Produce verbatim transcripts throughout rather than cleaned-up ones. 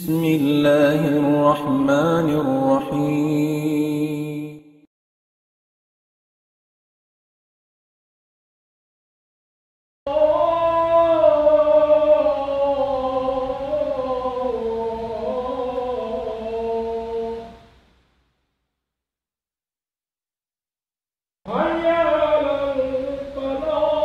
بسم الله الرحمن الرحيم. حي على الفلاح.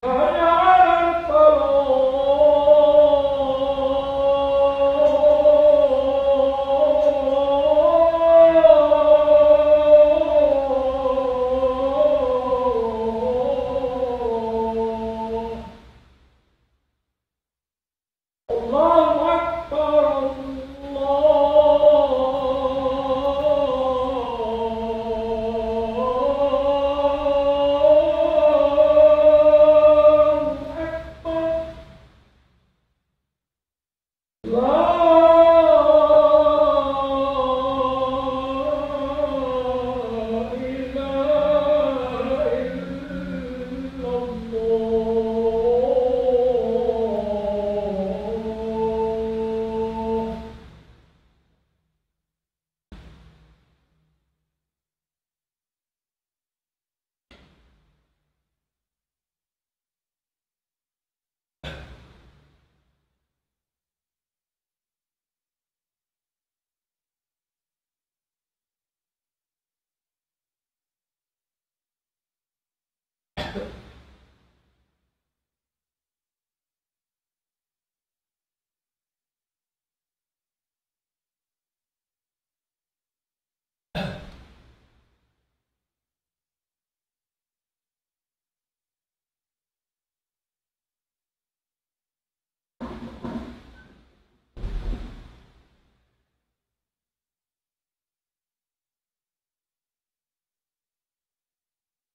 حي على الفلاح. الله أكبر، الله أكبر. لا إله إلا الله.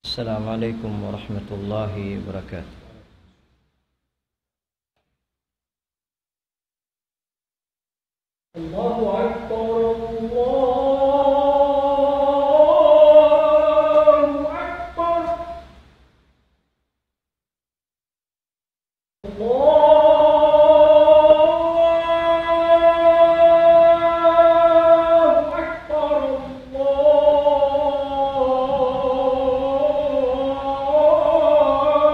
السلام عليكم ورحمة الله وبركاته. الله أكبر، الله أكبر. الله أكبر،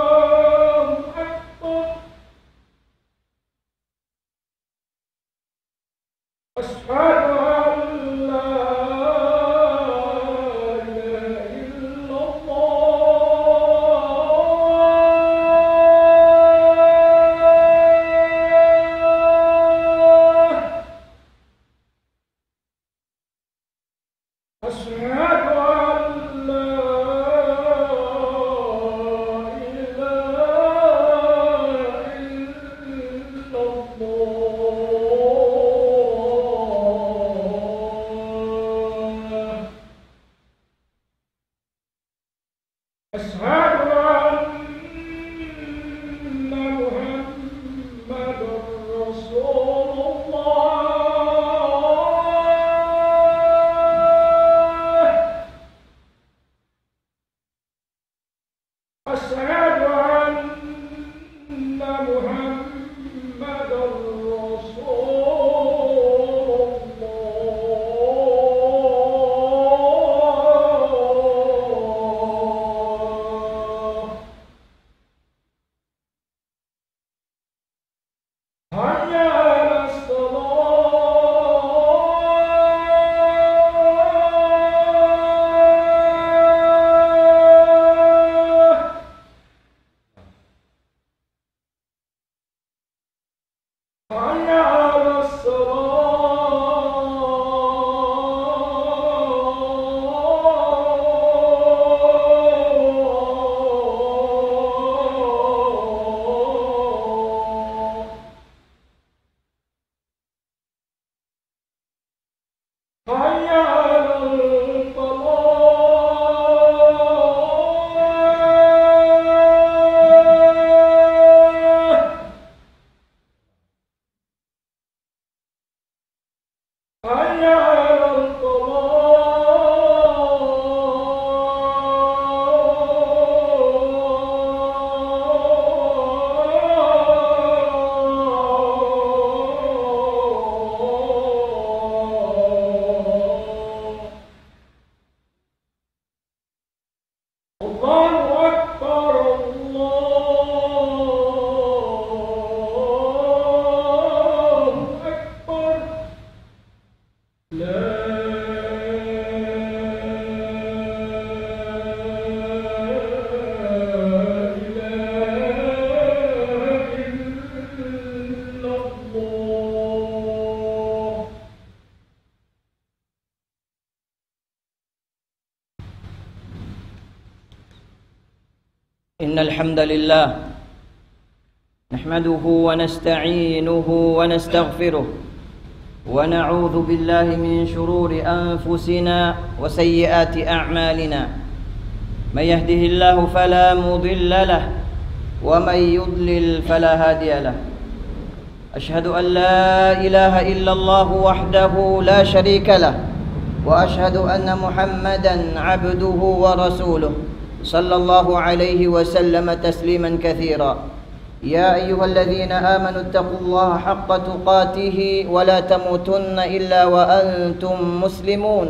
الله أكبر. أشهد أن لا إله إلا الله. أشهد أن لا إله إلا الله. أشهد أن محمدا رسول الله. أشهد أن محمدا رسول الله. حي على الصلاة. حي على الصلاة. حي على الفلاح. حي على الفلاح. الله أكبر، الله أكبر. لا إله إلا الله. إن الحمد لله نحمده ونستعينه ونستغفره، ونعوذ بالله من شرور أنفسنا وسيئات أعمالنا. من يهده الله فلا مضل له، ومن يضلل فلا هادي له. أشهد أن لا إله إلا الله وحده لا شريك له، وأشهد أن محمدا عبده ورسوله، صلى الله عليه وسلم تسليما كثيرا. يا أيها الذين آمنوا اتقوا الله حق تقاته ولا تموتن إلا وأنتم مسلمون.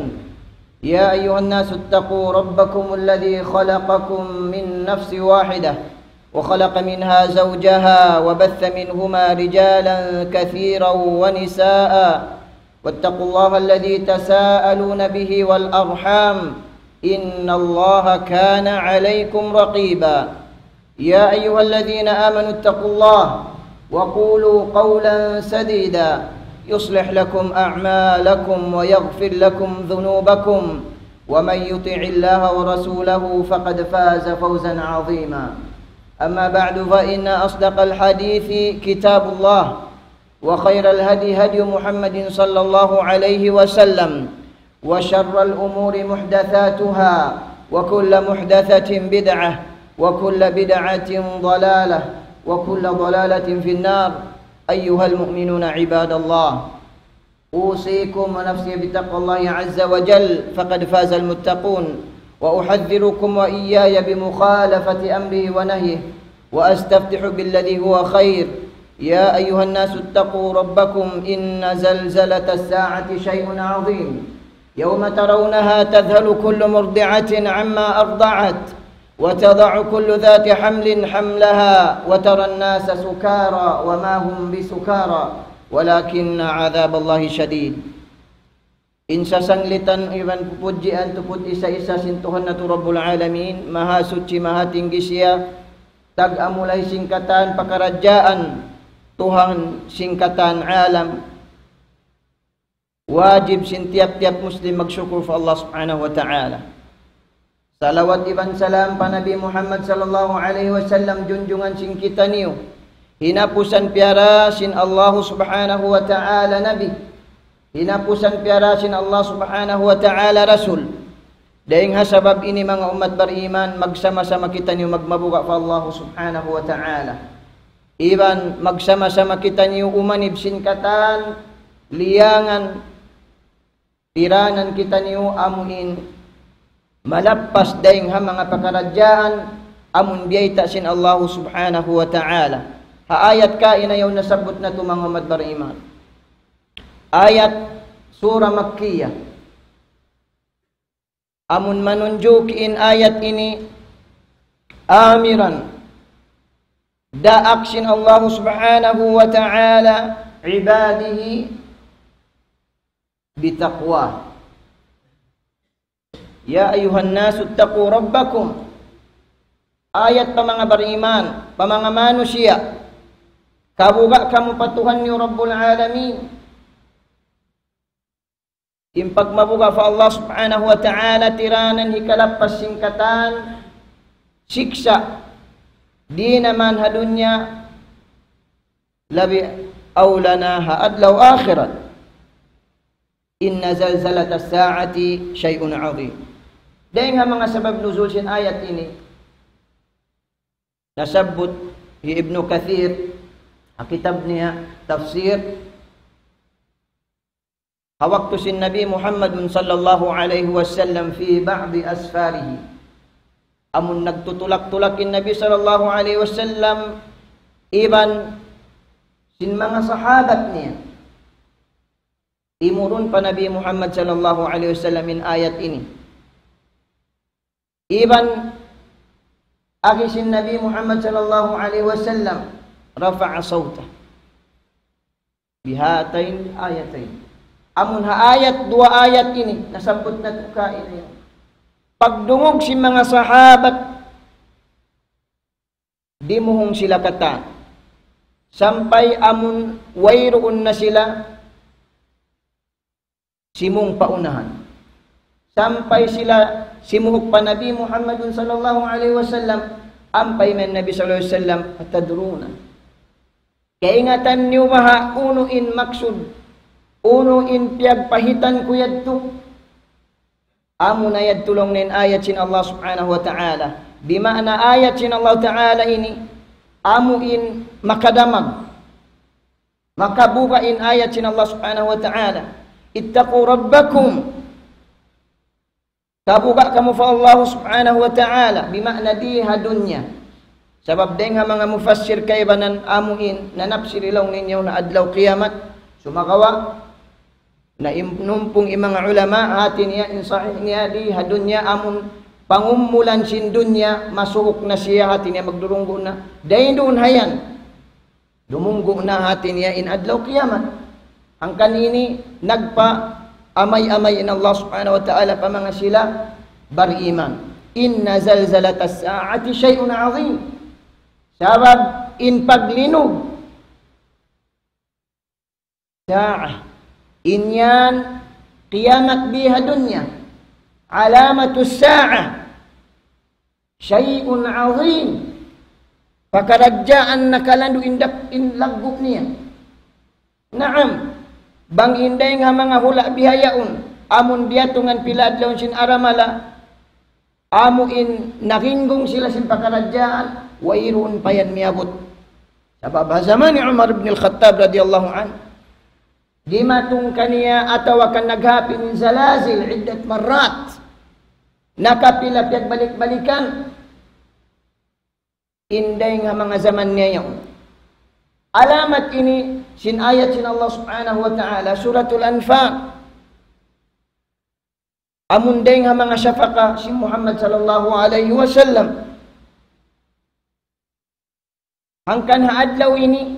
يا أيها الناس اتقوا ربكم الذي خلقكم من نفس واحدة وخلق منها زوجها وبث منهما رجالا كثيرا ونساء، واتقوا الله الذي تساءلون به والأرحام، إن الله كان عليكم رقيبا. يا أيها الذين آمنوا اتقوا الله وقولوا قولا سديدا يصلح لكم أعمالكم ويغفر لكم ذنوبكم، ومن يطع الله ورسوله فقد فاز فوزا عظيما. أما بعد، فإن أصدق الحديث كتاب الله، وخير الهدي هدي محمد صلى الله عليه وسلم، وشر الأمور محدثاتها، وكل محدثة بدعة، وكل بدعة ضلالة، وكل ضلالة في النار. أيها المؤمنون عباد الله، أوصيكم ونفسي بتقوى الله عز وجل، فقد فاز المتقون، وأحذركم وإياي بمخالفة أمره ونهيه، وأستفتح بالذي هو خير. يا أيها الناس اتقوا ربكم إن زلزلة الساعة شيء عظيم. يوم ترونها تذهل كل مرضعة عما أرضعت وتضع كل ذات حمل حملها وترى الناس سكارى وما هم بسكارى ولكن عذاب الله شديد. In sasanglitan iban pupudjian tuput isa-isa sin Tuhan natu' Rabbul Alamin, Mahasuchi, Mahatinggi siya, tag-amulay sin katan pakaradjaan, Tuhan sin katan alam. Wajib sin tiyap-tiyap Muslim magsukur pa Allah Subhanahu wa Ta'ala. Salawat iban salam pa Nabi Muhammad sallallahu alayhi wasallam, junjungan sin kitaniyu. Hinapusan piyara sin Allah Subhanahu wa Ta'ala Nabi. Hinapusan piyara sin Allah Subhanahu wa Ta'ala Rasul. Dayng ha sabab ini, manga ummat bariman, magsama-sama kitaniyu magmabuga' pa Allah Subhanahu wa Ta'ala. Iban magsama-sama kitaniyu umanib sin katan liyangan, tiranan kitaniyu amuin malappas dayng ha manga pakaradjaan amun biyayta' sin Allah Subhanahu wa Ta'ala. Ha ayat kaina yaun nasabbut natu', manga ummat bariman. Ayat Surah Makkiyah. Amun manunjuki in ayat ini, amiran, daak sin Allah Subhanahu wa Ta'ala, عباده بتقواه. يا أيها الناس اتقوا ربكم. Ayat pa manga bariman, pa manga manusiya'. Kabuga' kamu pa Tuhan niyu Rabbul Alamin. In pagmabuga' pa Allah Subhanahu wa Ta'ala, tiranan hikalappas sin katan siksa', di' na man ha dunya, labi awla na ha adlaw akhirat. إن زلزلة الساعة شيء عظيم. Dayng ha manga sabab nuzul sin ayat ini, nasabbut hi Ibnu Kathir, ha kitab niya tafsir, Ha waktu sin Nabi Muhammadun sallallahu alayhi wasallam في بعض أسفاره. Amun nagtutulak-tulak in Nabi sallallahu alayhi wasallam iban sin manga sahabat niya. Timurun pa Nabi Muhammad sallallahu alayhi wasallam in ayat ini. Iban agi sin Nabi Muhammad sallallahu alayhi wasallam رفع صوته بهاتين الآيتين. Amun ha ayat, duwa ayat ini, nasabbut natu' kaina yan. Pagdungug sin manga sahabat, dimuhung sila katan. Sampay amun wayruun na sila simung pa unahan. Sampay sila simuuk pa Nabi Muhammadun sallallahu alayhi wasallam, ampa in Nabi sallallahu alayhi wasallam, أتدرون. Kaingatan niyu baha' unu in maksud, unu in piyagpahitan ku yadtu? Amu na yadtu laung niya in ayat sin Allah subhanahu wa ta'ala. Bima'na ayat sin Allah ta'ala ini, amu in makadamag. Makabuga' in ayat sin Allah subhanahu wa ta'ala. اتقوا ربكم. Kabuga' kamu pa Allah subhanahu wa ta'ala, bima'na di ha dunya. Sabab dayng ha manga mufassir kaibanan amu in nanapsir laung niya ha adlaw kiyamat. Sumagawa', na im-, numpung in manga ulama, hati niya in sahih niya di ha dunya amun pangumulan sin dunya, masuuk na siya, hati niya magdurunggu' na. Dayn duun ha yan. Dumunggu' na hati niya in adlaw kiyamat. Hangkan ini nagpaamay-amay in Allah subhanahu wa ta'ala pa manga sila bariman. إن زلزلة الساعة شيء عظيم. Sabab in paglinug sa'ah. In yan kiyamat di ha dunya. علامة الساعة. شيء عظيم. Pakaradjaan nakalandu' in dak-, in laggu' niya. Naam. Bang in dayng ha manga hula' bihaun, amun diyatungan pila adlaw sin aramala, amu in nakinggung sila sin pakaradjaan, wayruun pa yan miyabut. Sabab ha jaman ni Umar ibn al-Khattab radiyallahu anhu, dimatung kaniya atawa kan naghapin in zalazil عدة مرات. Nakapila piyagbalik-balikan. In dayng ha manga jaman niya yaun. Alamat ini sin ayat sin Allah subhanahu wa ta'ala, Suratul Anfal. Amun dayng ha manga shafaqah sin Muhammad sallallahu alayhi wasallam. Hangkan ha adlaw ini,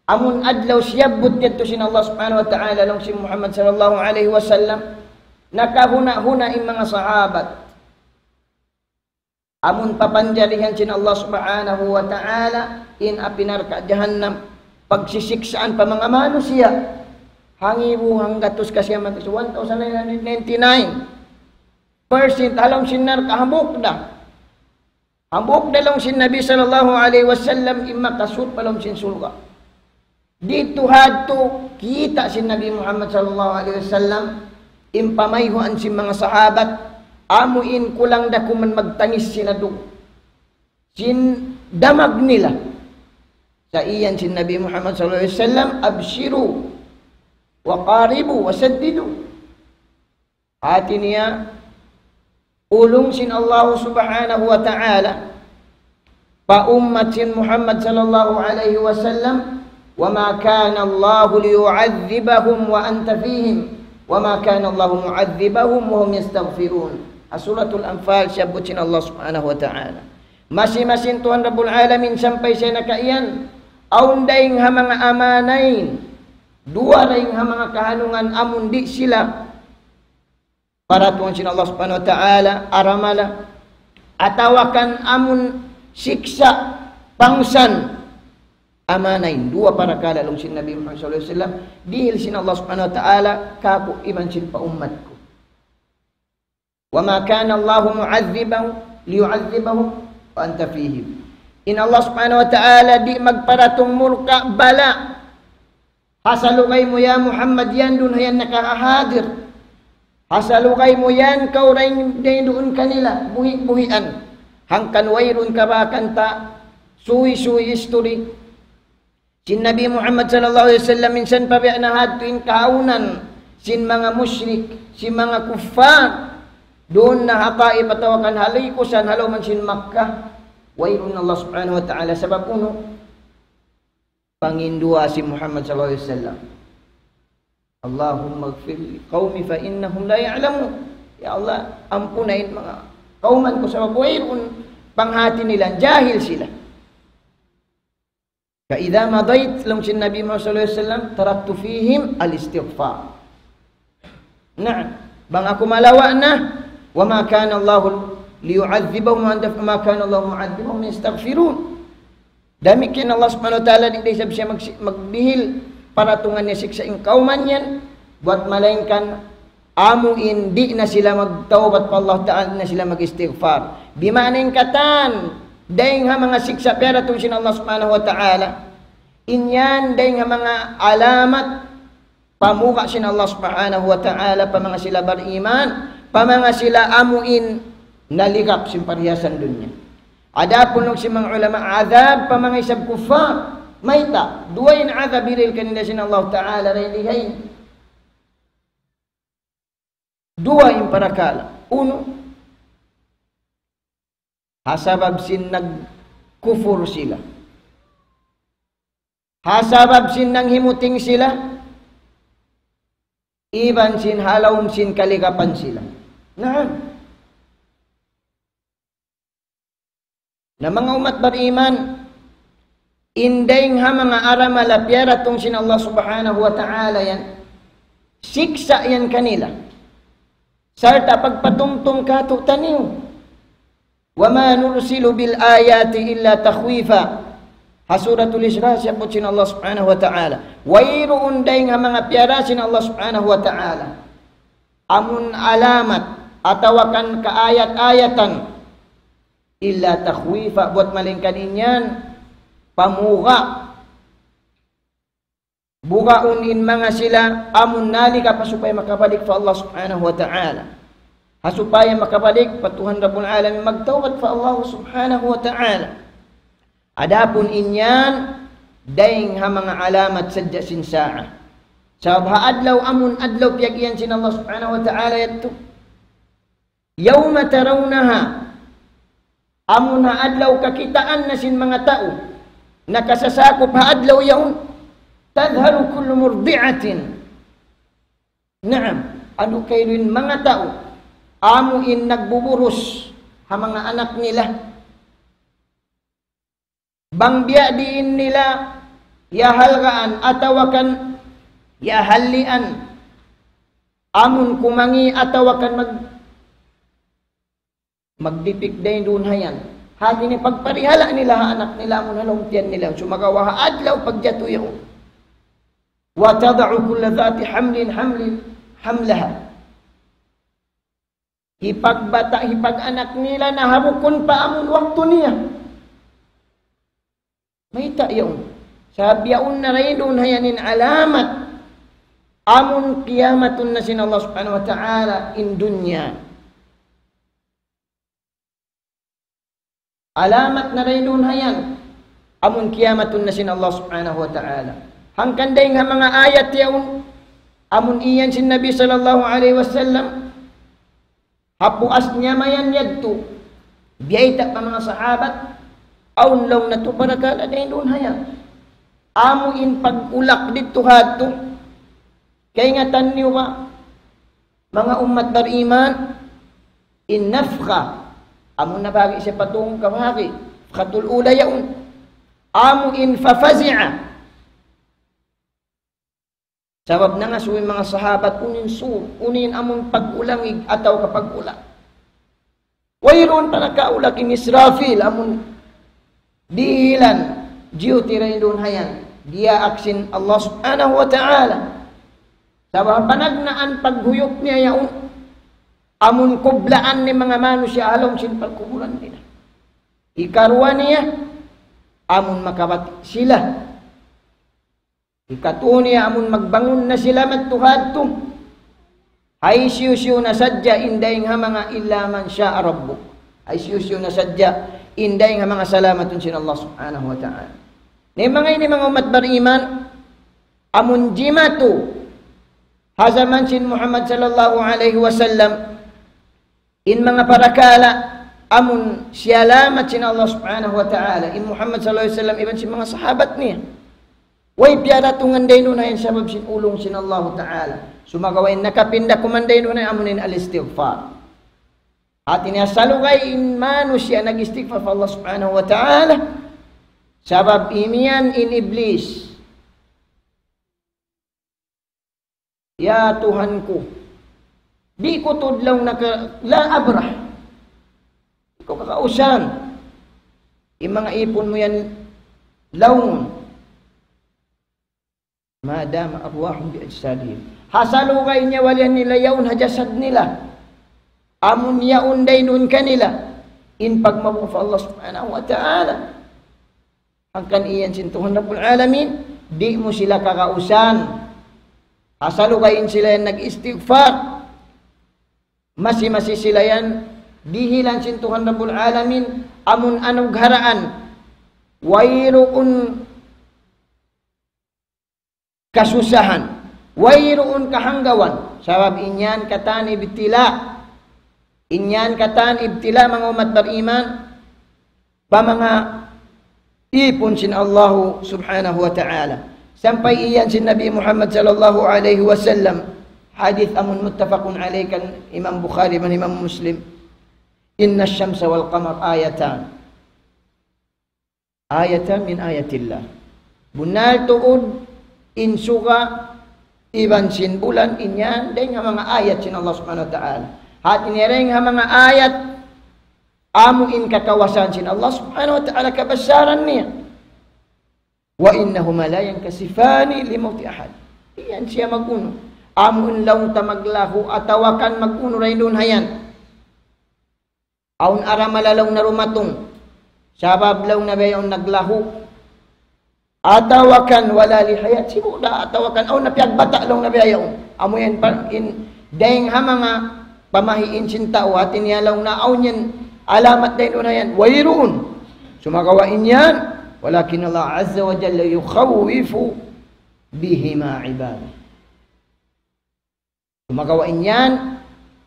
amun adlaw siyabbut yadtu sin Allah subhanahu wa ta'ala laung sin Muhammad sallallahu alayhi wasallam, nakahuna'-huna' in manga sahabat. Amun papanjarihan sin Allah subhanahu wa ta'ala, in api narka' jahannam, pagsisiksaan pa manga manusiya', hangibu hanggatus kasiyaman, one thousand nine hundred ninety-nine percent ha lawm sin narka' hambuuk da. Hambuuk da laung sin Nabi sallallahu alayhi wasallam in makasud pa lawm sin surga'. Didtu hadtu kita' sin Nabi Muhammad sallallahu alayhi wasallam, in pamayhuan sin manga sahabat, amu in kulang da kuman magtangis sin adu'. Sin damag nila. Sa' iyan sin Nabi Muhammad sallallahu alayhi wasallam, أبشروا وقاربوا وسددوا. Hati niya, ulung sin Allah subhanahu wa ta'ala pa ummat sin Muhammad sallallahu alayhi wasallam, وما كان الله ليعذبهم وأنت فيهم وما كان الله معذبهم وهم يستغفرون. Ha Suratul Anfal, siyabbut sin Allah subhanahu wa ta'ala. Masi-masi in Tuhan Rabbul Alamin sampay siya nakaiyan, awn dayng ha manga amanayn, duwa dayng ha manga kahanungan amun di' sila paratungan sin Allah subhanahu wa ta'ala, aramala, atawa kan amun siksa' pangsan, amanayn, duwa parakala' laung sin Nabi Muhammad sallallahu alayhi wasallam, dihil sin Allah subhanahu wa ta'ala, kāku' iban sin pa ummat ku. وما كان الله معذبهم ليعذبهم وأنت فيهم. In Allah subhanahu wa ta'ala di' magparatung murka' bala' ha salugay mu, ya Muhammad, yan duun ha yan nakahadir. Ha salugay mu yan, kaw dayn, dayn duun kanila, buhi'-buhian. Hangkan wayruun kabaakan ta, suwi-suwi history sin Nabi Muhammad sallallahu alayhi wasallam, minsan pa biya' na hadtu in kahaunan, sin manga mushrik, sin manga kuffar, duun na ha Taif atawa kan ha likusan, ha lawm sin Makkah, wayruun Allah Subhanahu wa Ta'ala. Sabab unu? Panginduwaa sin Muhammad sallallahu alayhi wasallam. اللهم اغفر لقومي فإنهم لا يعلمون. Ya Allah, ampuna in manga kawman ku sabab wayruun panghati nila, jahil sila. فإذا مضيت, laung sin Nabi Muhammad sallallahu alayhi wasallam, تركت فيهم الاستغفار. Naam, bang aku malawa' na, وما كان الله ليعذبهم وأنت، وما كان الله معذبهم يستغفرون. Damikkiyan Allah Subhanahu wa Ta'ala, di' da isab siya mag-, magdihil paratungan niya siksa' in kawman yan, buwat malaingkan amu in di' na sila magtawbat pa Allah Ta'ala, di' na sila mag-istighfar. Di' maana in katan, dayng ha manga siksa' piyaratung sin Allah Subhanahu wa Ta'ala. In yan, dayng ha manga alamat, pamuga' sin Allah Subhanahu wa Ta'ala, pa manga sila bariman, pa manga sila amu in naligap sin parhiyasan dunya. Adapun laung sin manga ulama, adhab pa manga isab kuffar. Mayta', duwa in adhab hirihil kanila sin Allah Ta'ala, dayn di ha ini. Duwa in parakala'. Unu, ha sabab sin nagkufur sila. Ha sabab sin nanghimuting sila, iban sin ha lawm sin kaligapan sila. Naam. Na manga ummat bariman, in dayng ha manga aramala piyaratung sin Allah Subhanahu wa Ta'ala yan, siksa' yan kanila. Sarta' pagpatumtum kātu'niyu. وما نرسل بالآيات إلا تخويفا. Ha Suratul Isra, siyabbut sin Allah Subhanahu wa Ta'ala. Wayruun dayng ha manga piyara sin Allah Subhanahu wa Ta'ala. Amun alamat, atawa kan kaayat-ayatan. إلا تخويفا, buwat malaingkan in yan, pamuga'. Bugaun in manga sila amun naligap ha supaya makabalik pa Allah Subhanahu wa Ta'ala. Ha supaya makabalik pa Tuhan Rabbul Alamin, magtawbat pa Allah Subhanahu wa Ta'ala. Adapun in yan, dayng ha manga alamat sadja sin sa'a. Sabab ha adlaw amun adlaw piyag-iyan sin Allah Subhanahu wa Ta'ala yadtu. يوم ترونها. Amun ha adlaw kakitaan na sin manga tau, nakasasakup ha adlaw yaun. تذهل كل مرضعة. Naam, anu kailu in manga tau, amu in nagbuburus ha manga anak nila. Bang biya' diin nila hiyahalgaan atawa kan hiyahallian. Amun kumangi' atawa kan mag-, magdipik dayn duun ha yan. Hati niya pagparihala' nila ha anak nila amun ha lawm tiyan nila. Sumagawa' ha adlaw pagjatu yaun. وتضع كل ذات حمل حمل حملها. Hipagbata', hipag-anak nila na ha bukun pa amun waktu niya. Mayta' yaun? Sabab yaun na dayn duun ha yan in alamat. Amun kiyamatun na sin Allah Subhanahu wa Ta'ala in dunya. Alamat na dayn duun ha yan. Amun kiyamatun na sin Allah Subhanahu wa Ta'ala. Hangkan dayng ha manga ayat yaun, amun iyan sin Nabi sallallahu alayhi wasallam, ha puas niya mayan yadtu, biyayta' pa manga sahabat, awn laung natu' parakala' dayn duun ha yan. Amu in pag-ulak didtu ha yadtu, kaingatan niyu ba, manga ummat bariman, in nafkha, amu nabahagi' siya pa tungka bahagi', nafkhatul ula yaun. Amu in ففزع. Sabab nangasubu in manga sahabat, unu in sur, unu in amun pag-ulangig atawa ka pag-ulak. Wayruun pa nakaulak in Israfil, amun dihilan, duty dayn duun ha yan. Diyaak sin Allah Subhanahu wa Ta'ala. Sabab panagnaan paghuyup niya yaun, amun kublaan in manga manusiya' ha lawm sin pagkubulan nila. Hikaruwa niya, amun makabati' sila. Hikatu niya amun magbangun na sila madtu ha yadtu. Hisiyu-siyu na sadja in dayng ha manga إلا من شاء ربك. Hisiyu-siyu na sadja in dayng ha manga salamatun sin Allah Subhanahu wa Ta'ala. Na in manga ini manga ummat bariman, amun jimatu Ha jaman sin Muhammad sallallahu alayhi wasallam, in manga parakala' amun siyalamat sin Allah subhanahu wa ta'ala, in Muhammad sallallahu alayhi wasallam iban sin manga sahabat niya. Way piyaratungan dayn duun ha yan sabab sin ulung sin Allah ta'ala. Sumagawa' in nakapinda kuman dayn duun ha yan amun in al-istighfar. Hati niya salugay in manusiya' nag-istighfar pa Allah subhanahu wa ta'ala. Sabab imiyan in Iblis. Ya Tuhan ku, di' ku tuud laung niya ka, la abrah. Di' ku kakausan. In manga ipun mu yan laung. Ma dama arwahum bi ajsadihim. Ha salugay nyawa nila yaun ha jasad nila. Amun yaun dayn duun kanila in pagmabuga' pa Allah subhanahu wa ta'ala. Hangkan iyan sin Tuhan Rabbul Alamin, di' mu sila kakausan. Ha salugay in sila yan nag-istighfar. Masi-masi sila yan, dihilan sin Tuhan Rabbul Alamin, amun anugharaan. Wayruun kasusahan. Wayruun kahanggawan. Sabab in yan katan ibtila. In yan katan ibtila manga ummat bariman. Pa manga ipun sin Allah subhanahu wa ta'ala. Sampay iyan sin Nabi Muhammad sallallahu alayhi wasallam. Hadith amun muttafaqun alayhi kan Imam Bukhari iban Imam Muslim. Inna shamsa wal qamar ayatan. Ayatan min ayatillah. Bunnal tuud in suga iban sin bulan in yan, dayn ha manga ayat sin Allah subhanahu wa ta'ala. Hati niya dayn ha manga ayat, amu in kakawasan sin Allah subhanahu wa ta'ala kabasaran niya. Wa innahuma la yankasifani li mawti ahad. Di' yan siya mag-unu. Amu in laung ta maglahu, atawa kan mag-unu dayn duun ha yan. Awn aramala laung na rumatung. Sabab laung na biya' yaun naglahu. Atawa kan wala li hayat sibu' da, atawa kan awn na piyagbata' laung na biya' yaun. Amu yan pa, in, dayn ha manga pamahiin sin tau, hati niya laung na awn yan, alamat dayn duun na yan. Wayruun. Sumagawa' in yan, walakin Allah azza wa jalla yukhawwifu bihima ibadah. Sumagawa' in yan,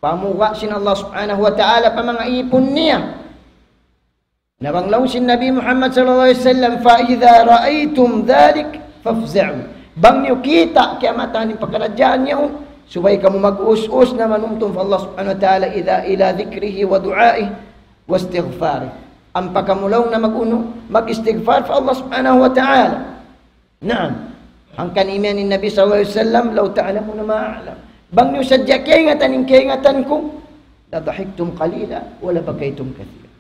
pamuga' sin Allah subhanahu wa ta'ala pa manga ipun niya. Na bang laung sin Nabi Muhammad sallallahu alayhi wasallam, فإذا رأيتم ذلك فافزعوا. Bang niyu kita' kiyamatan in pakaradjaan yaun, subay kamu mag-us-us na manumtum pa Allah subhanahu wa ta'ala, إذا إلى ذكره ودعائه واستغفاره. Ampa kamu laung na mag-unu, mag-istighfar pa Allah subhanahu wa ta'ala. Naam. Hangkan imiyan in Nabi sallallahu alayhi wasallam, لو تعلمون ما أعلم. Bang niyu sadja kaingatan in kaingatan ku, لضحكتم قليلا ولبكيتم كثيرا.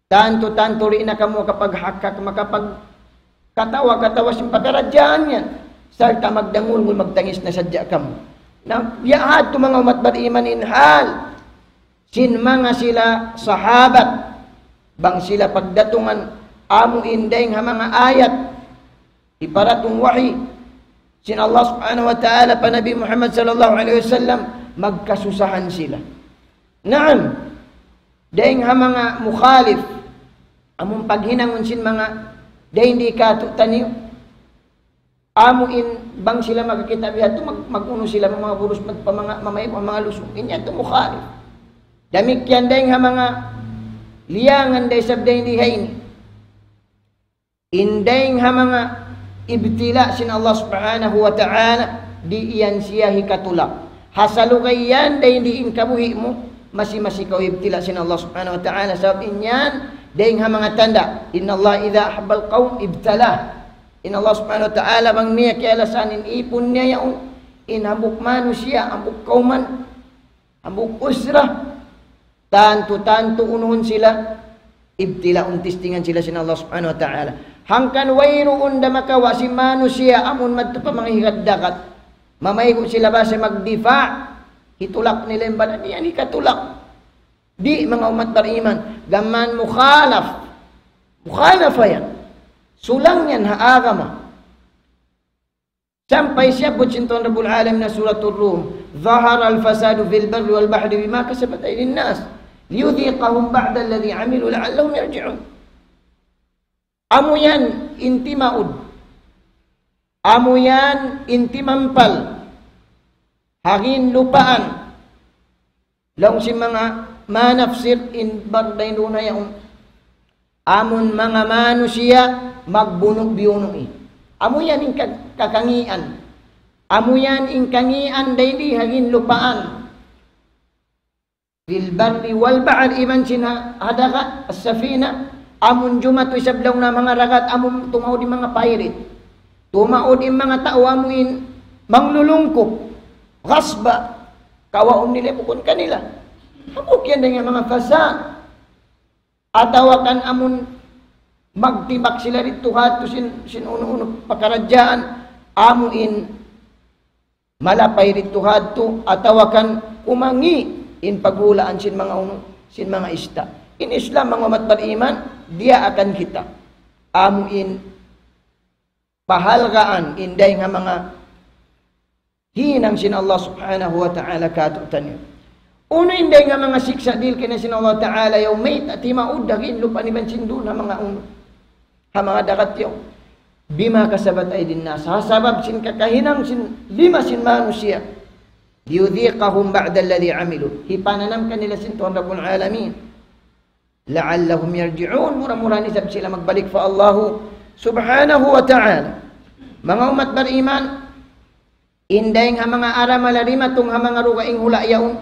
Tantu-tantu di' na kamu makapaghakak, makapagkatawa-katawa sin pakaradjaan yan. Sarta' magdangulngul, magtangis na sadja kamu. Na, ya hadtu manga ummat bariman in hal sin manga sila sahabat, bang sila pagdatungan amu in dayn ha manga ayat, hiparatung wahi sin Allah subhanahu wa ta'ala pa Nabi Muhammad sallallahu alayhi wasallam, magkasusahan sila. Naam, dayn ha manga mukhalif, amun paghinangun sin manga dayn di katu'taniyu, amu in bang sila makakita' biya' tu, mag-, mag-unu sila, manga burus, mag-, pa manga, mamay, pa manga lusung. In yan tu mukhalif. Damikkiyan dayn ha manga liyangan da isab dayn di ha ini. In dayn ha manga ibtila sin Allah subhanahu wa ta'ala, di' yan siya hikatulak. Ha salugay yan, dayn di in kabuhi' mu, masi-masi kaw ibtila sin Allah subhanahu wa ta'ala. Sabab in yan, dayn ha manga tanda'. إن الله إذا أحب قوما ابتلاهم. In Allah subhanahu wa ta'ala, bang niya kiyalasahan in ipun niya yaun, in hambuuk manusiya', hambuuk kawman, hambuuk usra, tantu-tantu unuhun sila, ibtilaun, testingan sila sin Allah subhanahu wa ta'ala. Hangkan wayruun da makawa' sin manusiya' amun madtu pa manga higad dagat. Mamaygu' sila basa magdifa', hitulak nila in baran, di' yan hikatulak. Di', manga ummat bariman, gām mukhalaf. Mukhalafa yan. Sulang yan ha agama. Sampay siyabbut sin Tuhan Rabbul Alamin ha Suratul Rum, ظهر الفساد في البر والبحر بما كسبت أيدي الناس ليذيقهم بعض الذي عملوا لعلهم يرجعون. Amu yan in timaud. Amu yan in timampal. ha ginlupaan. Laung sin manga manafsir in bar dayn duun ha yaun. Amun manga manusiya' magbunu'-biyunu' in. Amu yan in ka-, kakangian. Amu yan in kangian dayn di ha ginlupaan. Fil barri wal bahri, iban sin ha, ha dagat, as-safina, amun jumatu isab laung na manga dagat, amun tumaud in manga pirate. Tumaud in manga tau amu in manglulungkup, ghasba, kawaun nila bukun kanila. Amu yan dayn ha manga fasad. Atawa kan amun magtibak sila didtu ha yadtu sin, sin unu-unu pakaradjaan, amu in malapay didtu ha yadtu, atawa kan kumangi' in paghulaan sin manga unu, sin manga ista'. In Islam, manga ummat bariman, diyaakan kita. Amu in pahalgaan in dayng ha manga hinang sin Allah Subhanahu wa Ta'ala kātu'niyu. Unu in dayng ha manga siksa' dihil kaniya sin Allah Ta'ala yaun mayta' timaud ha ginlupaan iban sin duun ha manga unu, ha manga dagat yaun. Bima kasabat aydin nas. Ha sabab sin kakahinang sin lima sin manusiya'. Liyudhiqahum ba'da alladhi amilu. Hipananam kanila sin Tuhan Rabbul Alamin. La'allahum yarji'un. Mura-murahan isab sila magbalik pa Allahu Subhanahu wa Ta'ala. Manga ummat bariman, in dayng ha manga aramala dimatung ha manga dugaing hula' yaun.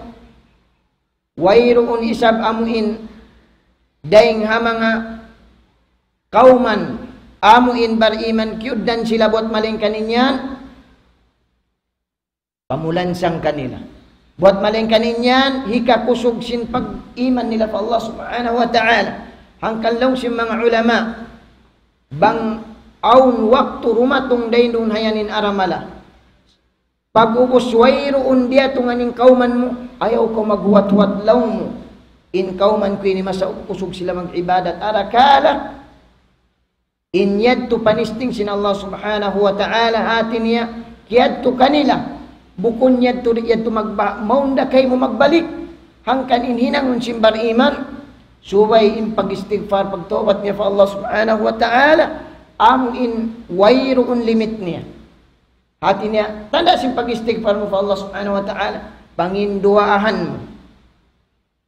Wayruun isab amu in dayng ha manga kawman amu in bariman kiyugdan sila buwat malaingkan in yan pamulansang kanila. Buwat malaingkan in yan hikakusug sin pag-iman nila pa Allah Subhanahu wa Ta'ala. Hangkan laung sin manga ulama, bang awn waktu dumatung dayn duun ha yan in aramala. Pag'ubus wayruun diyatungan in kawman mu, ayaw kaw maghuwat-huwat laung mu. In kawman ku ini masa kusug sila mag-ibadat arakala'. In yadtu panisting sin Allah Subhanahu wa Ta'ala, hāti niya, kiyadtu kanila. Bukun yadtu, di' yadtu magba-, mawn da kaymu magbalik. Hangkan in hinangun sin bariman, subay in pag-istighfar, pagtawbat niya pa Allah Subhanahu wa Ta'ala, amu in wayruun limit niya. Hāti niya, tanda' sin pag-istighfar mu pa Allah Subhanahu wa Ta'ala, panginduwaahan mu.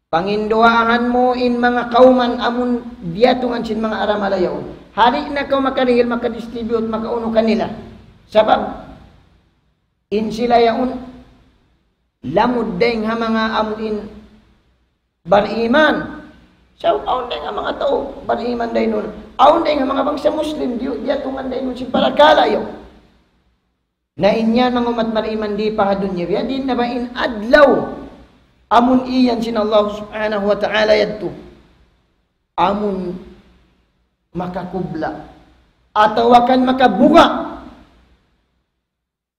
Panginduwaahan mu in manga kawman amun diyatungan sin manga aramala yaun. Di' na kaw makarihil, makadistribute, makaunu kanila. Sabab, in sila yaun, lamud dayng ha manga amun bariman. So, awn dayng ha manga tau bariman dayn duun. Awn dayng ha manga bangsa Muslim, di-, diyatungan dayn duun sin parakala' yaun. Na in yan manga ummat bariman di' pa ha dunya, biya' diin na ba in adlaw amun iyan sin Allah Subhanahu wa Ta'ala yadtu. Amun makakubla'. Atawa kan makabuga'.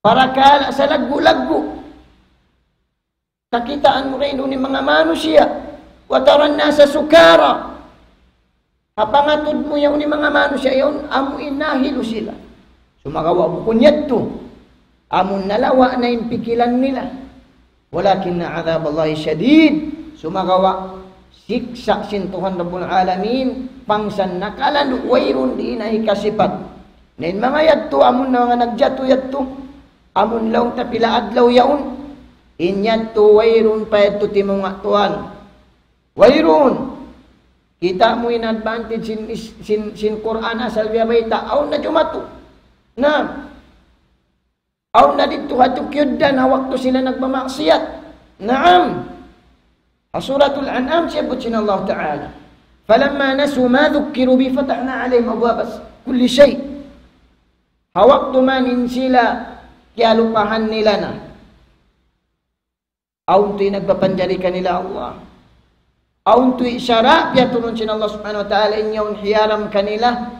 Parakala' salaggu'-laggu'. Kakitaan mu kaymu in manga manusiya'. وترى الناس سكارى. Ha pangatud mu yaun in manga manusiya' yaun amu in nahilu sila. Sumagawa' bukun yadtu. Amu nalawa' na in pikilan nila. ولكن عذاب الله شديد. Sumagawa' siksa' sin Tuhan Rabbul Alamin, pangsan nakalandu' wayruun di' na hikasipat. Na in manga yadtu, amun na manga nagjatu yadtu, amun laung ta pila adlaw yaun, in yadtu wayruun pa yadtu timunga' tuwan. Wayruun. Kita' mu in advantage sin, sin, sin Qur'an asal biya' bayta', awn na jumatu. Na, awn na didtu ha tukiyudan ha waktu sila nagmamaksiyat. Naam. Ha Suratul An'am siyabbut sin Allah Ta'ala. فلما نسوا ما ذكروا به فتحنا عليهم أبواب كل شيء. Ha waktu man in sila kiyalupahan nila na. Awn tuud in nagpapanjari kanila Allah. Awn tuud in sara' piyaturun sin Allah Subhanahu wa Ta'ala in yaun hiyaram kanila.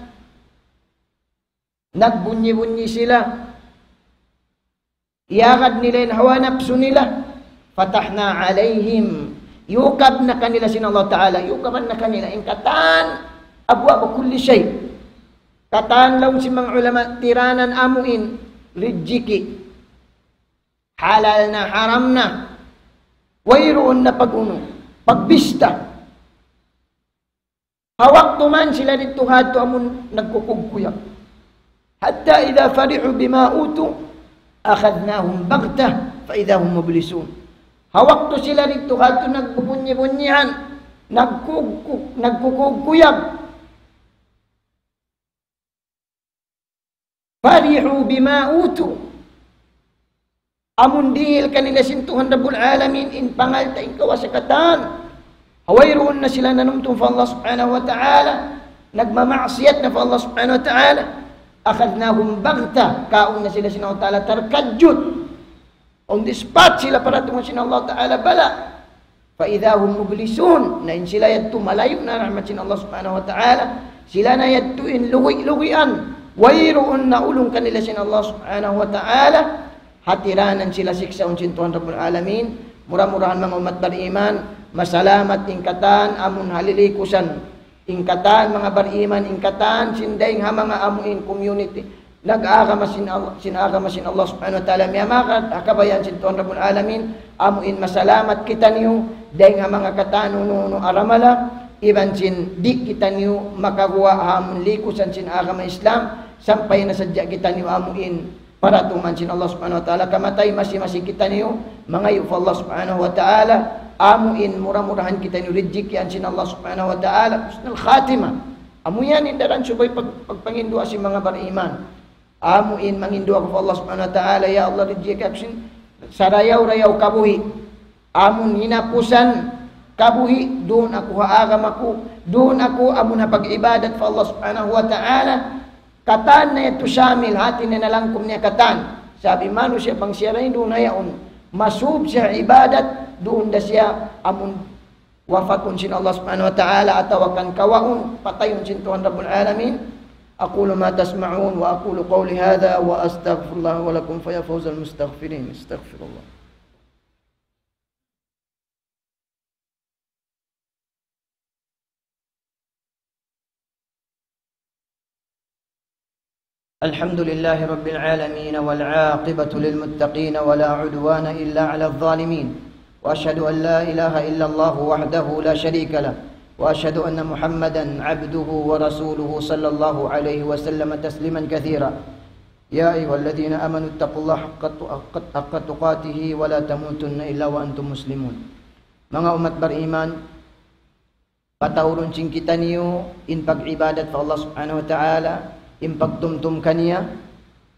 Nagbunyi-bunyi sila. Iyagad nila in hawa napsu nila. فتحنا عليهم. Yukab na kanila sin Allah Ta'ala. Yukaban na kanila in katan أبواب كل شيء. Katan laung sin manga ulama tiranan amu in rijiki'. Halal na, haram na. Wayruun na pag-unu, pagbista. Ha waktu man sila didtu ha yadtu amun nagkukugkuyak. حتى إذا فرحوا بما أوتوا أخذناهم بغتة فإذا هم مبلسون. Ha waktu sila didtu kadtu nagbubunyi-bunyihan, nagkugku-, nagkukuyag. فرحوا بما أوتوا. Amun dihil kanila sin Tuhan Rabbul Alamin in pangalta' in kawasa katan. Wayruun na sila nanumtum pa Allah Subhanahu wa Ta'ala, nagmamaksiyat na pa Allah Subhanahu wa Ta'ala. أخذناهم بغتة, kaun na sila sin Allah Ta'ala tarkadjut. On the spot sila paratungan sin Allah Ta'ala bala'. فإذا هم مبلسون. Na in sila yadtu malayu' na rahmat sin Allah Subhanahu wa Ta'ala. Sila na yadtu in lugi'-lugian. Wayruun na ulung kanila sin Allah Subhanahu wa Ta'ala. Hatiranan sila siksaun sin Tuhan Rabbul Alamin. Mura-murahan manga ummat bariman, masalamat in katan amun ha lilikusan. In katan manga bariman, in katan sin dayng ha manga amu in community nag-agama sin Allah, sin agama sin Allah Subhanahu wa Ta'ala, miyamagad ha kabayaan sin Tuhan Rabbul Alamin, amu in masalamat kitaniyu dayng ha manga katan unu-unu aramala, iban sin di' kitaniyu makaguwa' ha amun likusan sin agama Islam, sampay na sadja kitaniyu amu in paratungan sin Allah Subhanahu wa Ta'ala, kamatay masi-masi kitaniyu mangayu' pa Allah Subhanahu wa Ta'ala, amu in mura-murahan kitaniyu rijikian sin Allah Subhanahu wa Ta'ala husnul khatimah. Amu yan in daran subay pag-, pagpanginduwaa sin manga bariman. Amu in manginduwaa pa Allah Subhanahu wa Ta'ala, "Ya Allah, rijiki aku sin sarayaw-rayaw kabuhi'. Amun hinapusan kabuhi', duun aku ha agama ku, duun aku amun ha pag-ibadat pa Allah Subhanahu wa Ta'ala." Katan na yadtu shamil, hati niya nalangkum niya katan. Sabab manusiya' bang siya dayn duun ha yaun, masub siya ibadat, duun da siya amun wafatun sin Allah Subhanahu wa Ta'ala, atawa kan kawaun, patayun sin Tuhan Rabbul Alamin. أقول ما تسمعون وأقول قولي هذا وأستغفر الله ولكم فيا فوز المستغفرين. استغفر الله. الحمد لله رب العالمين، والعاقبة للمتقين، ولا عدوان إلا على الظالمين، وأشهد أن لا إله إلا الله وحده لا شريك له، وأشهد أن محمدا عبده ورسوله، صلى الله عليه وسلم تسليما كثيرا. يا أيها الذين آمنوا اتقوا الله حق، حق تقاته ولا تموتن إلا وأنتم مسلمون. Manga ummat bariman, pataurun sin kitaniyu in pag-ibadat pa Allah Subhanahu wa Ta'ala, in pagtumtum kaniya,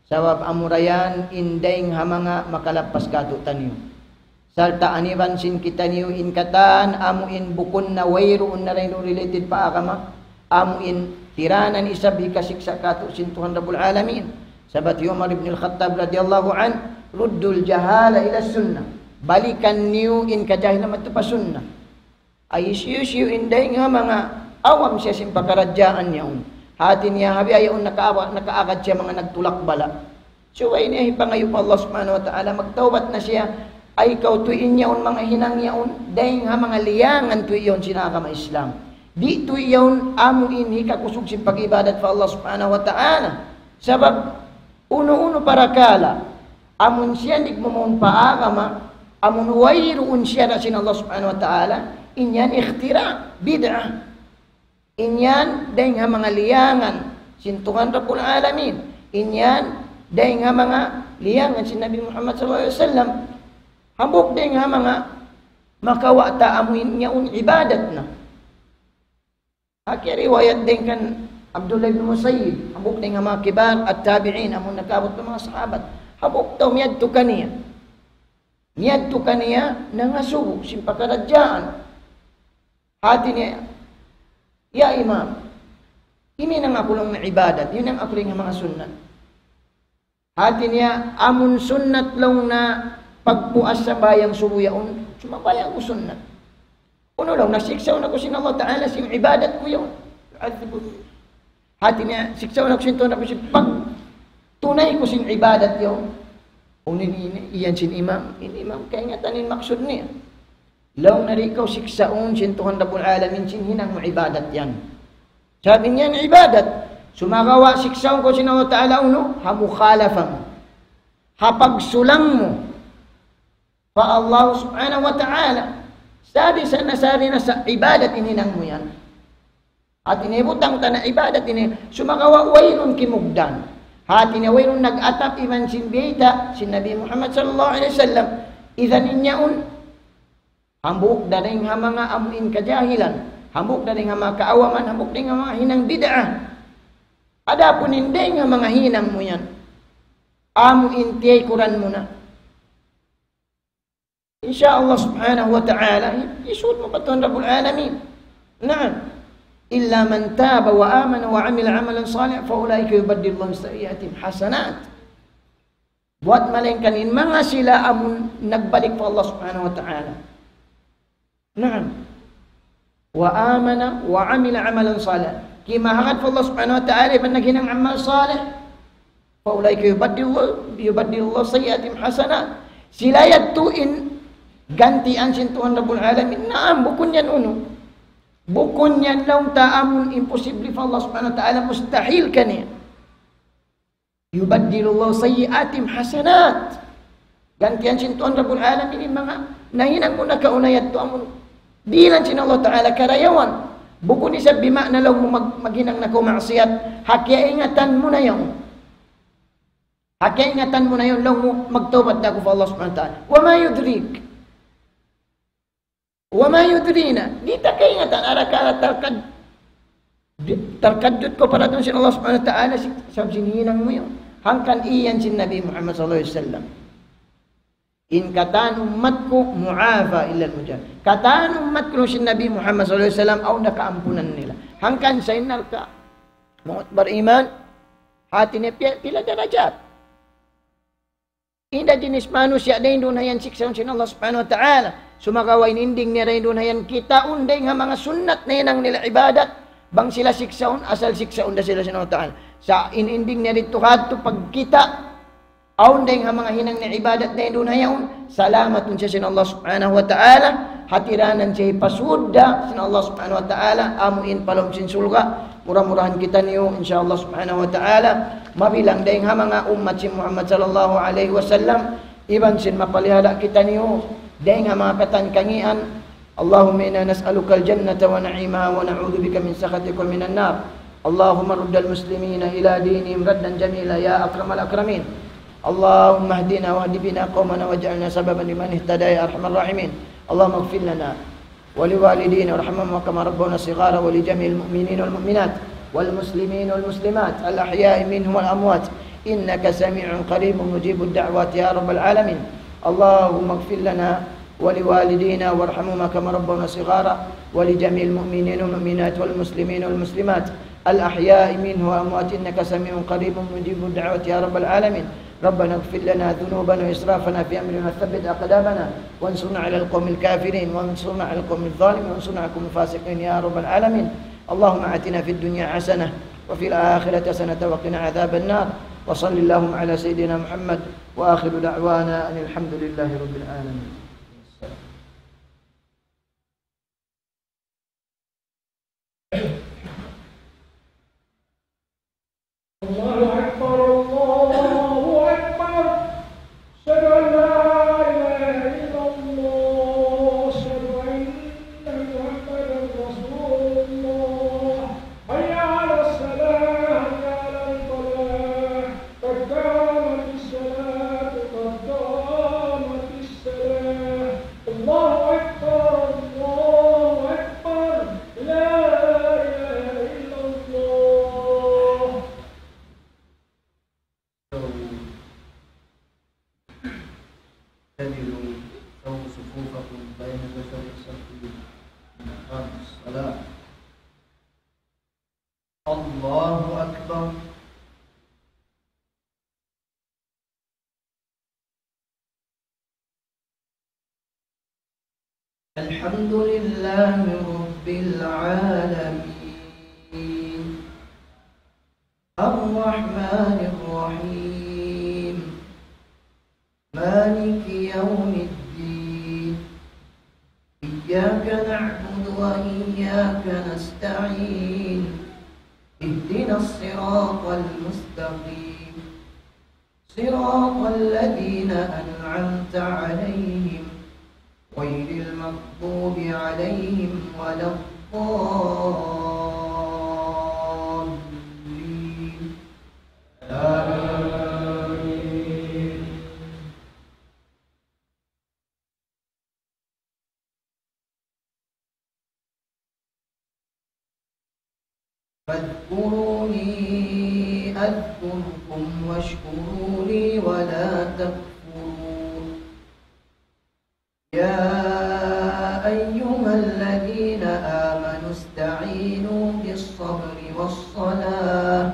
sabab amura yan in dayng ha manga makalappas kātu'niyu. Sarta' aniban sin kitaniyu in katan amu in bukun na wayruun na dayn related pa agama, amu in tiranan isab hikasiksa' kātu' sin Tuhan Rabbul Alamin. Sabab hi Umar ibn al-Khattab radiyallahu anhu, "ردوا الجهال إلى السنة." Balikan niyu in kajahilan madtu pa sunnah. Ay hisiyu-siyu in dayng ha manga awam siya sin pakaradjaan yaun. Hati niya ha biya' yaun nakaaba-, nakaagad siya manga nagtulak bala'. Subay niya hipangayu' pa Allah Subhanahu wa Ta'ala, magtawbat na siya. Ay kaw tuud in yaun manga hinang yaun, dayng ha manga liyangan tuud yaun sin agama Islam. Di' tuud yaun amu in hikakusug sin pag-ibadat pa Allah Subhanahu wa Ta'ala. Sabab unu-unu parakala', amun siya di' magmaun pa agama, amun wayruun siyara' sin Allah Subhanahu wa Ta'ala, in yan ikhtira', bid'ah. In yan dayng ha manga liyangan sin Tuhan Rabbul Alamin. In yan dayng ha manga liyangan sin Nabi Muhammad sallallahu alayhi wasallam. Hambuuk dayng ha manga makawa' ta amu in yaun ibadat na. Hati riwayat dayn kan Abdullah ibn Musayyib, hambuuk dayn ha manga kibar at-tabi'in, amun nakaabut pa manga sahabat. Hambuuk tau miyadtu kaniya. Miyadtu kaniya nangasubu sin pakaradjaan. Hati niya, "Ya Imam, ini na aku laung na ibadat, ini na aku laung na manga sunnat." Hati niya, "Amun sunnat laung na pagpuas sambahayang subu yaun, sumambahayang aku sunnat. Unu laung na siksaun aku sin Allah Ta'ala sin ibadat ku yaun. يعذبني." Hati niya, siksaun aku sin Tuhan Rabbul Alamin sin pagtunay ku sin ibadat yaun." Unu ini, iyan sin imam, in imam kaingatan in maksud niya. Laung niya, "Di' kaw siksaun sin Tuhan Rabbul Alamin sin hinang mu ibadat yan." Sabab in yan ibadat. Sumagawa' siksaun kaw sin Allah Ta'ala unu, ha mukhalafa mu. Ha pagsulang mu pa Allah Subhanahu wa Ta'ala. Sari sa na sari na sa ibadat in hinang mu yan. Hati niya butang ta na ibadat ini, sumagawa' wayruun kimugdan. Hati niya wayruun nag-atap iban sin biyayta' sin Nabi Muhammad sallallahu alayhi wasallam. Idan in yaun, hambuuk da dayn ha manga amu in kajahilan, hambuuk da dayn ha manga kaawaman, hambuuk dayn ha manga hinang bid'ah. Adapun in dayn ha manga hinang mu yan, amu in tiyaykuran mu na. In sha Allah subhanahu wa ta'ala, hi-, hisuud mu pa Tuhan Rabbul Alamin. Naam. إلا من تاب وآمن وعمل عملا صالحا فأولئك يبدل الله سيئاتهم حسنات. Buwat malaingkan in manga sila amun nagbalik pa Allah subhanahu wa ta'ala. Naam. وآمن وعمل عملا صالحا. Kimahagad pa Allah subhanahu wa ta'ala, iban naghinang amal salih. فأولئك يبدل الله، يبدل الله سيئاتهم حسنات. Sila yadtu in gantian sin Tuhan Rabbul Alamin. Naam, bukun yan unu. Bukun yan laung ta amun imposible pa Allah subhanahu wa ta'ala, mustahil kaniya. يبدل الله سيئاتهم حسنات. Gantian sin Tuhan Rabbul Alamin in manga nahinang mu nakauna yadtu amun dihilan sin Allah Ta'ala karayawan. Bukun isab bima'na laung mu mag-, maghinang na kaw maksiat. Ha kiyaingatan mu na yan. Ha kiyaingatan mu na yan laung mu magtawbat na aku pa Allah Subhanahu wa Ta'ala. وما يدريك. وما يدرينا. Di' ta kaingatan, arakala' tarkad-, di-, tarkadjut kaw pa dayn sin Allah Subhanahu wa Ta'ala, si-, sabab sin hinang mu yan. Hangkan iyan sin Nabi Muhammad sallallahu alayhi wasallam. In katan ummat ku معافى إلا المجاهرين. Katan ummat ku sin Nabi Muhammad sallallahu alayhi wasallam, awn na kaampunan nila. Hangkan sa in narka'. Manga bariman, hati niya pi-, pila darajat. Inda jinis manusiya' dayn duun ha yan siksaun sin Allah Subhanahu wa Ta'ala. Sumagawa' in ending niya dayn duun ha yan kitaun dayn ha manga sunnat nahinang nila ibadat. Bang sila siksaun, asal siksaun da sila sin Allah Ta'ala. Sa' in ending niya didtu kadtu pagkita', awn dayn ha manga hinang niya ibadat dayn duun ha yaun, salamatun siya sin Allah Subhanahu wa Ta'ala, hatiranan siya hipasud da sin Allah Subhanahu wa Ta'ala, amu in pa lawm sin surga'. Mura-murahan kitaniyu, in sha Allah Subhanahu wa Ta'ala, mabilang dayn ha manga ummat sin Muhammad sallallahu alayhi wasallam, iban sin mapalihara kitaniyu dayn ha manga katan kangīan. اللهم إنا نسألك الجنة ونعيمها ونعوذ بك من سخطك ومن النار. اللهم رد المسلمين إلى دينهم ردا جميلا يا أكرم الأكرمين. اللهم اهدنا واهد بنا قومنا واجعلنا سببا لمن اهتدى يا أرحم الراحمين. اللهم اغفر لنا ولوالدينا وارحمهما كما ربونا صغارا ولجميع المؤمنين والمؤمنات والمسلمين والمسلمات الأحياء منهم والأموات إنك سميع قريب مجيب الدعوات يا رب العالمين. اللهم اغفر لنا ولوالدينا وارحمهما كما ربونا صغارا ولجميع المؤمنين والمؤمنات والمسلمين والمسلمات الأحياء منهم والأموات إنك سميع قريب مجيب الدعوات يا رب العالمين. ربنا اغفر لنا ذنوبنا وإسرافنا في أمرنا وثبت أقدامنا وانصرنا على القوم الكافرين وانصرنا على القوم الظالمين وانصرنا على القوم الفاسقين يا رب العالمين. اللهم آتنا في الدنيا حسنة وفي الآخرة حسنة وقنا عذاب النار. وصل اللهم على سيدنا محمد وآخر دعوانا أن الحمد لله رب العالمين. الله أكبر، الله أكبر. أشهد أن لا إله إلا الله، أشهد أن محمدا رسول الله. حي على الصلاة، حي على الفلاح. قد قامت الصلاة، قد قامت الصلاة. الله أكبر، الله أكبر. لا إله إلا الله. اعتدلوا، سووا صفوفكم بين جدري الصف من أقام الصلاة. الله أكبر. الحمد لله رب العالمين. الرحمن الرحيم. مالك يوم الدين. إياك نعبد وإياك نستعين. اهدنا الصراط المستقيم. صراط الذين أنعمت عليهم غير المغضوب عليهم ولا الضالين. آمين. فاذكروني أذكركم واشكروا لي ولا تكفرون. يا أيها الذين آمنوا استعينوا بالصبر والصلاة،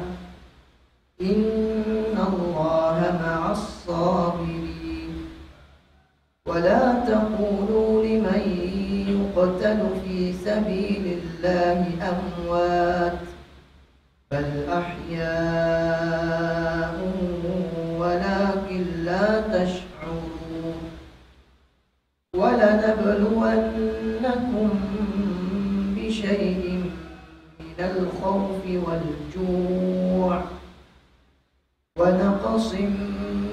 إن الله مع الصابرين. ولا تقولوا لمن يقتل في سبيل الله أموات، بل أحياء ولكن لا تشعرون. ولنبلونكم بشيء من الخوف والجوع ونقص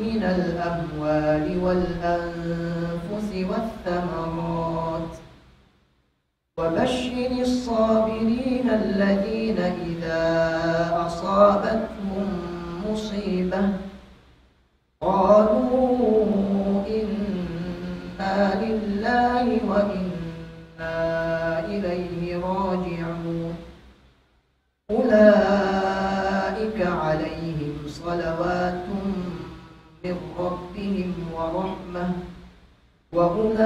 من الأموال والأنفس والثمرات. وبشر الصابرين الذين إذا أصابتهم مصيبة قالوا إنا لله وإنا إليه راجعون. أولئك عليهم صلوات من ربهم ورحمة وأولئك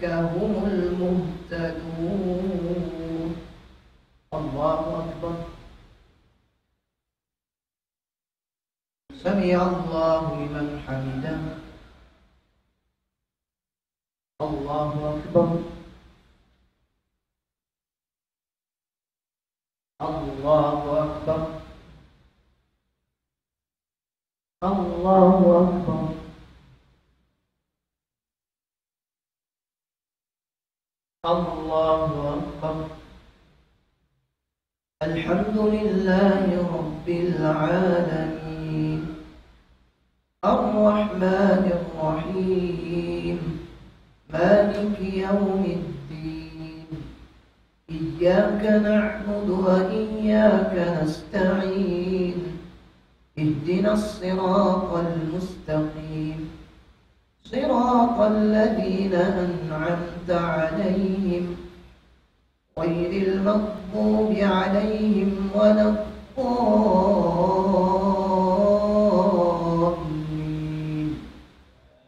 هم المهتدون. الله أكبر. سمع الله لمن حمده. الله أكبر. الله أكبر. الله أكبر. الله أكبر. الحمد لله رب العالمين. الرحمن الرحيم. مالك يوم الدين. إياك نعبد وإياك نستعين. اهدنا الصراط المستقيم. صراط الذين أنعمت عليهم غير المغضوب عليهم ولا الضالين.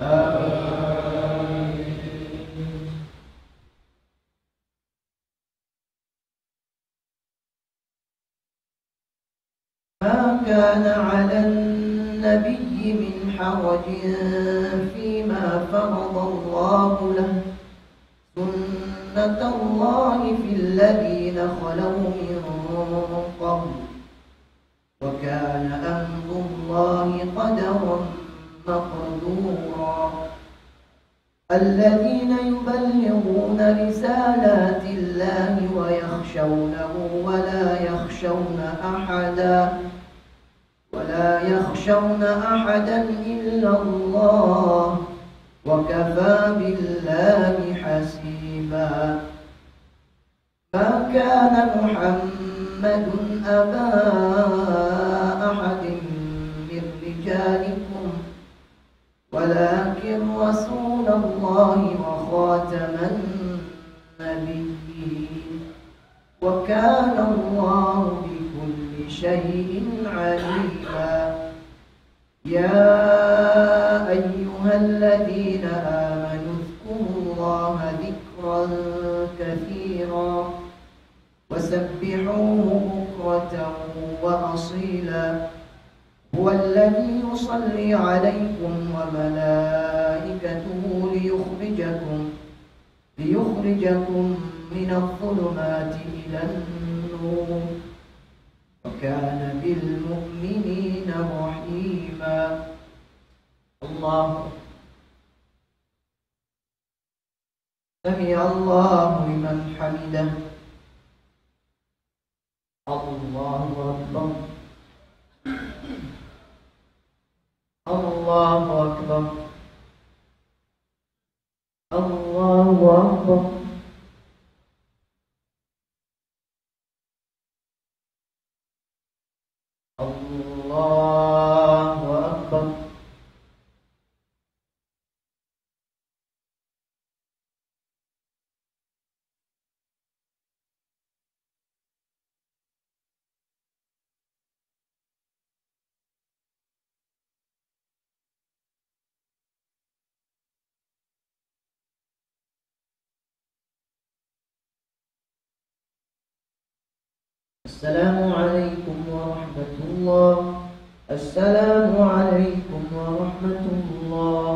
آمين. ما كان على النبي من حرج فيما فرض الله له، سنة الله في الذين خلوا من قبل، وكان أمر الله قدرا مقدورا. الذين يبلغون رسالات الله ويخشونه ولا يخشون أحدا، ولا يخشون أحدا إلا الله، وكفى بالله حسيبا. ما كان محمد أبا أحد من رجالكم، ولكن رسول الله وخاتم النبيين، وكان الله بكل شيء عليما. يا أيها الذين آمنوا اذكروا الله ذكرا كثيرا وسبحوه بكرة وأصيلا. هو الذي يصلي عليكم وملائكته ليخرجكم، ليخرجكم من الظلمات إلى النور، وكان بالمؤمنين رحيما. الله أكبر. سمع الله لمن حمده. الله أكبر. الله أكبر. الله أكبر. الله أكبر. السلام عليكم ورحمة الله. السلام عليكم ورحمة الله.